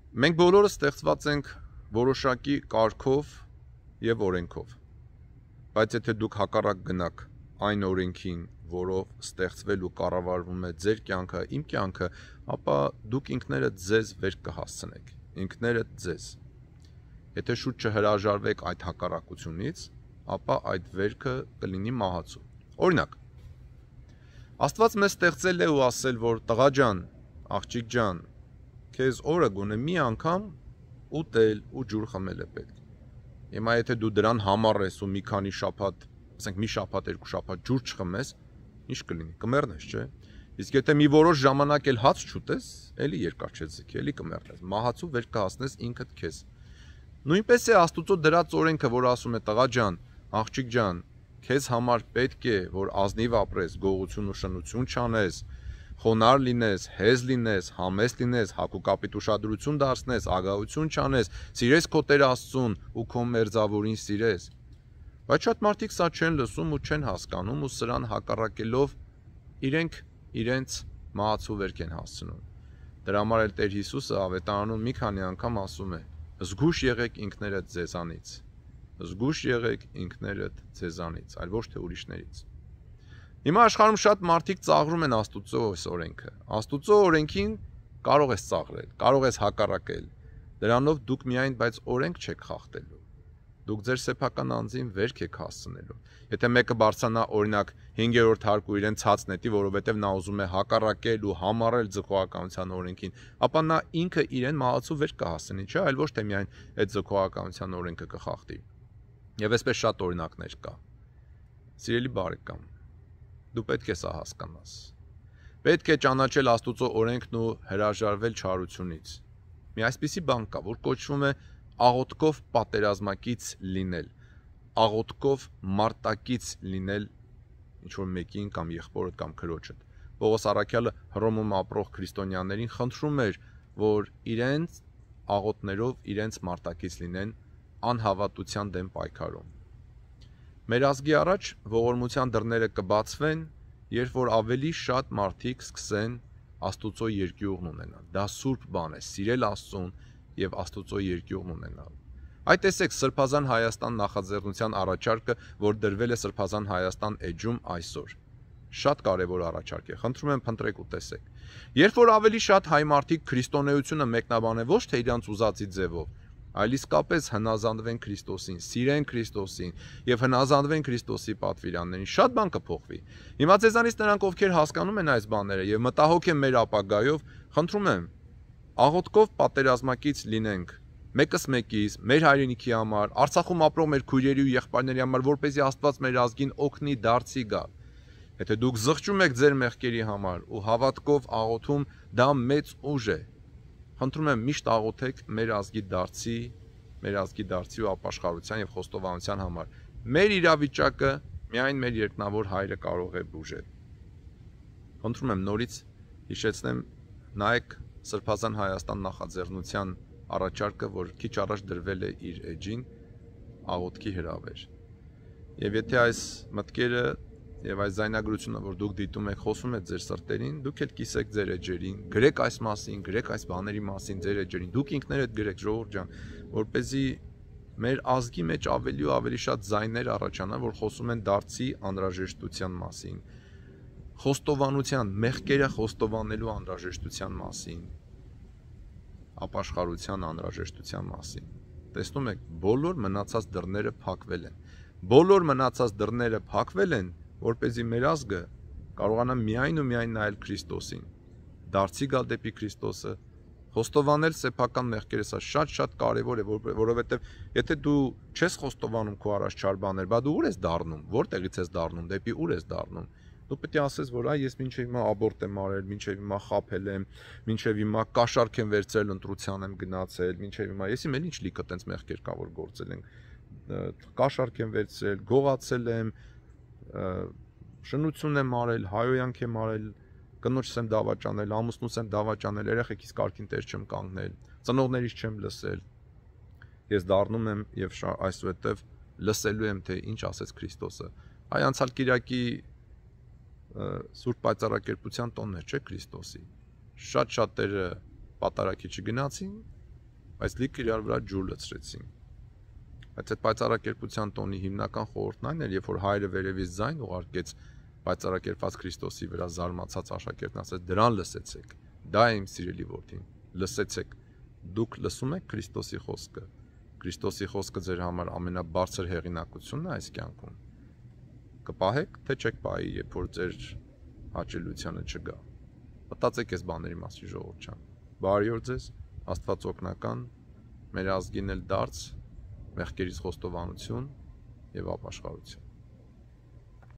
Մենք բոլորը ստեղծված ենք որոշակի կարգով եւ օրենքով, բայց եթե դուք հակառակ գնաք այն օրենքին, որով ստեղծվել ու կառավարվում է ձեր կյանքը, իմ կյանքը, ապա դուք ինքներդ ձեզ վեր կհասցնեք, ինքներդ ձեզ։ Եթե շուտ չհրաժարվեք այդ հակառակությունից, ապա այդ վերքը կլինի մահացու։ Օրինակ, Աստված մեզ ստեղծել է ու ասել, որ տղա ջան, աղջիկ ջան, քեզ օրը գոնե մի անգամ ուտել ու ջուր խմել է պետք։ Հիմա եթե դու դրան համառես ու մի քանի շաբաթ, ասենք մի շաբաթ, երկու շաբաթ ջուր չխմես, ինչ կլինի, կմեռնես, չէ՞։ Իսկ եթե մի որոշ ժամանակ էլ հաց չուտես, էլի երկար չձգի, էլի կմեռնես, մահացու վեր կհասնես ինքդ քեզ։ Նույնպես է Աստուծո դրած օրենքը, որ ասում է տղա ջան, աղջիկ ջան, քեզ համար պետք է, որ ազնիվ ապրես, գողություն ու շնություն չանես, խոնարհ լինես, հեզ լինես, համեստ լինես, հակուկապիտ ուշադրություն դարձնես, ագահություն չանես, սիրես քո Տեր Աստծուն ու քո մերձավորին սիրես։ Բայց շատ մարդիկ սա չեն լսում ու չեն հասկանում ու սրան հակառակելով իրենք իրենց մահացու վերք են հասցնում։ Դրա համար էլ Տեր Հիսուսը ավետարանում մի քանի անգամ ասում է. զգուշ եղեք ինքներդ ձեզանից, զգուշ եղեք ինքներդ ձեզանից, այլ ոչ թե ուրիշներից։ Հիմա աշխարհում շատ մարդիկ ծաղրում են Աստուծո օրենքը։ Աստուծո օրենքին կարող ես ծաղրել, կարող ես հակառակել։ Դրանով դուք միայն բայց օրենք չեք խախտելու։ Դուք ձեր սեփական անձին վերք եք հասցնելու։ Եթե մեկը բարձրանա օրինակ 5-րդ հարկու իրեն ցած նետի, որովհետև նա ուզում է հակառակել ու համառել ձգողականության օրենքին, ապա նա ինքը իրեն մահացու վերք կհասցնի, չէ՞, այլ ոչ թե միայն այդ ձգողականության օրենքը կխախտի։ Եվ այսպես շատ օրինակներ կա։ Սիրելի բարեկամ, դու պետք է սա հասկանաս։ Պետք է ճանաչել Աստուծո օրենքն ու հրաժարվել չարությունից։ Մի այսպիսի բան կա, որ կոչվում է աղոթքով պատերազմակից լինել, աղոթքով մարտակից լինել ինչ-որ մեկին կամ եղբորդ կամ քրոջդ։ Պողոս առաքյալը Հռոմում ապրող քրիստոնյաներին խնդրում էր, որ իրենց աղոթներով իրենց մարտակից լինեն անհավատության դեմ պայքարում։ Մեր ազգի առաջ ողորմության դռները կբացվեն, երբ որ ավելի շատ մարդիկ սկսեն Աստուծո երկյուղն ունենալ։ Դա սուրբ բան է, սիրել Աստծուն եւ Աստուծո երկյուղն ունենալ։ Այդ տեսեք Սրբազան Հայաստան նախաձեռնության առաջարկը, որ դրվել է Սրբազան Հայաստան էջում այսօր։ Շատ կարևոր առաջարկ է։ Խնդրում եմ փնտրեք ու տեսեք։ Երբ որ ավելի շատ հայ մարդիկ քրիստոնեությունը մեկնաբանեն ոչ թե իրանց ուզածի ձևով, այլ իսկապես հնազանդվեն Քրիստոսին, սիրեն Քրիստոսին եւ հնազանդվեն Քրիստոսի պատվիրաններին, շատ բան կփոխվի։ Հիմա ձեզանից նրանք, ովքեր հասկանում են այս բաները եւ մտահոգ են մեր ապագայով, խնդրում եմ, աղոթքով պատերազմակից լինենք մեկս մեկից, մեր հայրենիքի համար, Արցախում ապրող մեր քույրերի ու եղբայրների համար, որպեսզի Աստված մեր ազգին օգնի դարձի գալ։ Եթե դուք զղջում եք ձեր մեղքերի համար ու հավատքով աղոթում, դա մեծ ուժ է։ Խնդրում եմ միշտ աղոթեք մեր ազգի դարձի ու ապաշխարության եւ խոստովանության համար։ Մեր իրավիճակը միայն մեր երկնավոր Հայրը կարող է բուժել։ Խնդրում եմ նորից հիշեցնեմ, նայեք Սրբազան Հայաստան նախաձեռնության առաջարկը, որ քիչ առաջ դրվել է իր էջին աղոթքի հրավեր։ Եվ եթե այս մտքերը եւ այս զայնագրությունը, որ դուք դիտում եք, խոսում է ձեր սրտերին, դուք էլ կիսեք ձեր էջերին, գրեք այս մասին, գրեք այս բաների մասին ձեր էջերին, դուք ինքներդ գրեք, ժողովուրդ ջան, որպեսզի մեր ազգի մեջ ավելի ու ավելի շատ զայներ առաջանան, որ խոսում են դարձի անհրաժեշտության մասին, խոստովանության, մեղքերը խոստովանելու անհրաժեշտության մասին, ապաշխարության անհրաժեշտության մասին։ Տեսնում եք, բոլոր մնացած դռները փակվել են։ Բոլոր մնացած դռները փակվել են, որպեսզի մեր ազգը կարողանա միայն ու միայն նայել Քրիստոսին, դարձի գալ դեպի Քրիստոսը, խոստովանել սեփական մեղքերը, սա շատ կարևոր է, որովհետև եթե դու չես խոստովանում քո առաջ չար բաներ, բա դու ուր ես դառնում, որտեղից ես դառնում, դեպի ուր ես դառնում։ Դու պետք է ասես, որ ես մինչև հիմա աբորտ եմ արել, մինչև հիմա խաբել եմ, մինչև հիմա կաշառք եմ վերցրել, ընտրության եմ գնացել, մինչև հիմա եսի մեր ինչ լիքը տենց մեղքեր կա, որ գործել են, կաշառք եմ վերցրել, գողացել եմ, շնություն եմ արել, հայոյանք եմ արել, կնոջս եմ դավաճանել, ամուսնուս եմ դավաճանել, երեխեքիս կարգին տեր չեմ կանգնել, ծնողներիս չեմ լսել։ Ես դառնում եմ եւ այսուհետեւ լսելու եմ, թե ինչ ասեց Քրիստոսը։ Այ անցյալ կիրակի Սուրբ Պայծառակերպության տոնն է, չէ՞ Քրիստոսի։ Շատ շատերը պատարագի չգնացին բայց լիքը իրար վրա ջուր լցրեցին։ Բայց այդ պայծառակերպության տոնի հիմնական խորհուրդն այն էր, երբ որ հայրը վերևից ձայն ուղարկեց պայծառակերպված Քրիստոսի վրա զարմացած աշակերտն ասեց. «Դրան լսեցեք, դա է իմ սիրելի որդին, լսեցեք, դուք լսում եք Քրիստոսի խոսքը, Քրիստոսի խոսքը ձեր համար ամենաբարձր հեղինակությունն է այս կյանքում, կպահեք, թե չեք պահի, երբ որ ձեր հաճելիությանը չգա»։ Մտածեք այս բաների մասին, ժողովուրդ ջան։ Բարի օր ձեզ, Աստված օգնական, մեր ազգին էլ դարձ, մեղքերից խոստովանություն եւ ապաշխարություն։